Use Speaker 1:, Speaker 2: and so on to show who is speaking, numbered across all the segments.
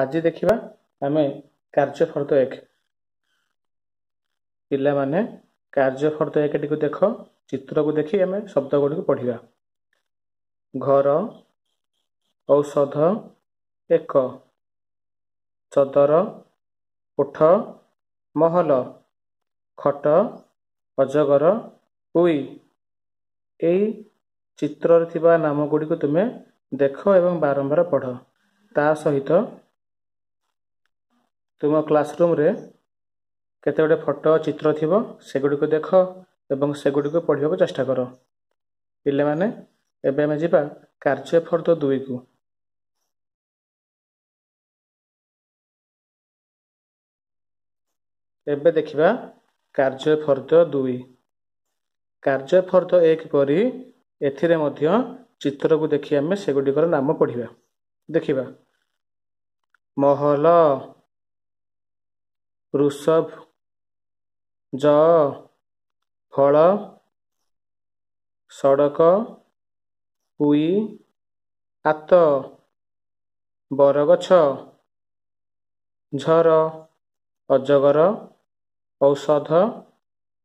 Speaker 1: ଆଜି ଦେଖିବା ଆମେ କାର୍ଯ୍ୟଫର୍ଦ୍ଦ 1। ପିଲାମାନେ, କାର୍ଯ୍ୟଫର୍ଦ୍ଦ 1ଟିକୁ ଦେଖ। ଚିତ୍ରକୁ ଦେଖି ଆମେ ଶବ୍ଦ ଗୁଡ଼ିକୁ ପଢ଼ିବା। ଘର, ଔଷଧ, ଏକ, ଚଦର, ଓଠ, ମହଲ, ଖଟ, ଅଜଗର, ଉଇ। ଏଇ ଚିତ୍ରରେ ଥିବା ନାମ ଗୁଡ଼ିକୁ ତୁମେ ଦେଖ ଏବଂ ବାରମ୍ବାର ପଢ଼। ତା ସହିତ ତୁମ କ୍ଲାସରୁମ୍ରେ କେତେ ଗୁଡ଼ିଏ ଫଟୋ ଚିତ୍ର ଥିବ, ସେଗୁଡ଼ିକୁ ଦେଖ ଏବଂ ସେଗୁଡ଼ିକୁ ପଢ଼ିବାକୁ ଚେଷ୍ଟା କର। ପିଲାମାନେ, ଏବେ ଆମେ ଯିବା କାର୍ଯ୍ୟଫର୍ଦ୍ଦ 2କୁ। ଏବେ ଦେଖିବା କାର୍ଯ୍ୟଫର୍ଦ୍ଦ 2। କାର୍ଯ୍ୟଫର୍ଦ୍ଦ 1 ପରି ଏଥିରେ ମଧ୍ୟ ଚିତ୍ରକୁ ଦେଖି ଆମେ ସେଗୁଡ଼ିକର ନାମ ପଢ଼ିବା। ଦେଖିବା। ମହଲ, ଋଷଭ, ଜ, ଫଳ, ସଡ଼କ, ଉଇ, ଆତ, ବରଗଛ, ଝର, ଅଜଗର, ଔଷଧ,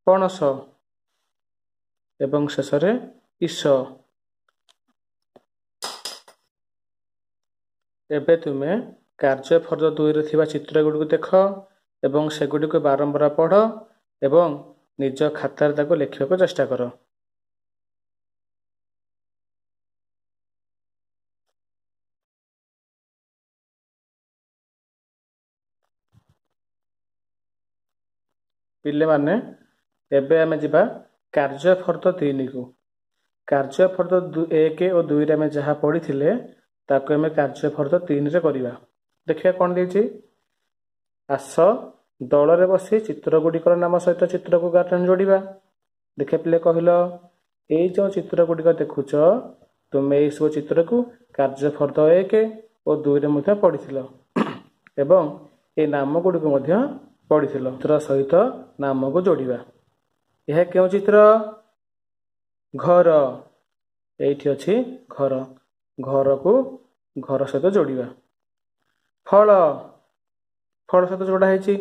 Speaker 1: ପଣସ ଏବଂ ଶେଷରେ ଇସ। ଏବେ ତୁମେ କାର୍ଯ୍ୟଫର୍ଦ୍ଦ 2ରେ ଥିବା ଚିତ୍ର ଗୁଡ଼ିକୁ ଦେଖ ଏବଂ ସେଗୁଡ଼ିକୁ ବାରମ୍ବାର ପଢ଼ ଏବଂ ନିଜ ଖାତାରେ ତାକୁ ଲେଖିବାକୁ ଚେଷ୍ଟା କର। ପିଲାମାନେ, ଏବେ ଆମେ ଯିବା କାର୍ଯ୍ୟଫର୍ଦ୍ଦ 3କୁ। କାର୍ଯ୍ୟଫର୍ଦ୍ଦ 1 ଓ 2ରେ ଆମେ ଯାହା ପଢ଼ିଥିଲେ, ତାକୁ ଆମେ କାର୍ଯ୍ୟଫର୍ଦ୍ଦ 3ରେ କରିବା। ଦେଖିବା କ'ଣ ଦେଇଛି। ଆସ ଦଳରେ ବସି ଚିତ୍ର ଗୁଡ଼ିକର ନାମ ସହିତ ଚିତ୍ରକୁ ଗାର୍ଡେନ ଯୋଡ଼ିବା। ଦେଖିବା ପିଲେ, କହିଲ, ଏଇ ଯେଉଁ ଚିତ୍ର ଗୁଡ଼ିକ ଦେଖୁଛ ତୁମେ, ଏଇସବୁ ଚିତ୍ରକୁ କାର୍ଯ୍ୟଫର୍ଦ୍ଦ 1 ଓ 2ରେ ମଧ୍ୟ ପଢ଼ିଥିଲ ଏବଂ ଏଇ ନାମ ଗୁଡ଼ିକୁ ମଧ୍ୟ ପଢ଼ିଥିଲ। ଚିତ୍ର ସହିତ ନାମକୁ ଯୋଡ଼ିବା। ଏହା କେଉଁ ଚିତ୍ର? ଘର। ଏଇଠି ଅଛି ଘର। ଘରକୁ ଘର ସହିତ ଯୋଡ଼ିବା। ଫଳ, ଫଳ ସହିତ ଯୋଡ଼ା ହେଇଛି।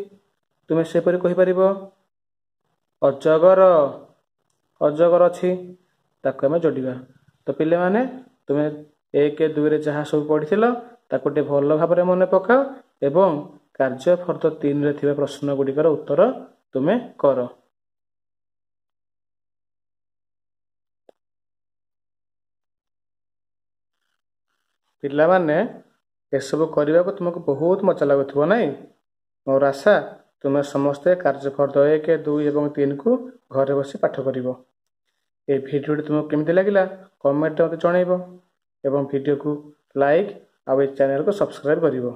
Speaker 1: ତୁମେ ସେପରି କହିପାରିବ। ଅଜଗର, ଅଜଗର ଅଛି, ତାକୁ ଆମେ ଯୋଡ଼ିବା। ତ ପିଲାମାନେ, ତୁମେ 1 2ରେ ଯାହା ସବୁ ପଢ଼ିଥିଲ, ତାକୁ ଟିକେ ଭଲ ଭାବରେ ମନେ ପକାଅ ଏବଂ କାର୍ଯ୍ୟ ଫର୍ଦ୍ଦ 3ରେ ଥିବା ପ୍ରଶ୍ନ ଗୁଡ଼ିକର ଉତ୍ତର ତୁମେ କର। ପିଲାମାନେ, ଏସବୁ କରିବାକୁ ତୁମକୁ ବହୁତ ମଜା ଲାଗୁଥିବ, ନାଇଁ? ମୋର ଆଶା, ତୁମେ ସମସ୍ତେ କାର୍ଯ୍ୟଫର୍ଦ୍ଦ 1, 2 ଏବଂ 3କୁ ଘରେ ବସି ପାଠ କରିବ। ଏ ଭିଡ଼ିଓଟି ତୁମକୁ କେମିତି ଲାଗିଲା, କମେଣ୍ଟରେ ମୋତେ ଜଣାଇବ ଏବଂ ଭିଡ଼ିଓକୁ ଲାଇକ୍ ଆଉ ଏ ଚ୍ୟାନେଲକୁ ସବସ୍କ୍ରାଇବ୍ କରିବ।